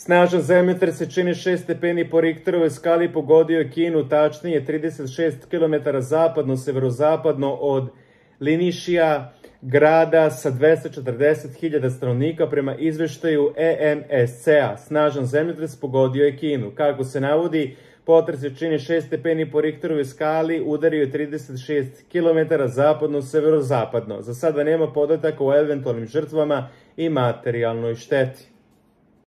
Snažan zemljotres se čini 6 stepeni po Richterovoj skali pogodio je Kinu, tačnije 36 km zapadno-severozapadno od Linišija, grada sa 240.000 stanovnika prema izveštaju ENSC-a. Snažan zemljotres pogodio je Kinu. Kako se navodi, potres se čini 6 stepeni po Richterovoj skali, udario je 36 km zapadno-severozapadno. Za sada nema podataka o eventualnim žrtvama i materijalnoj šteti.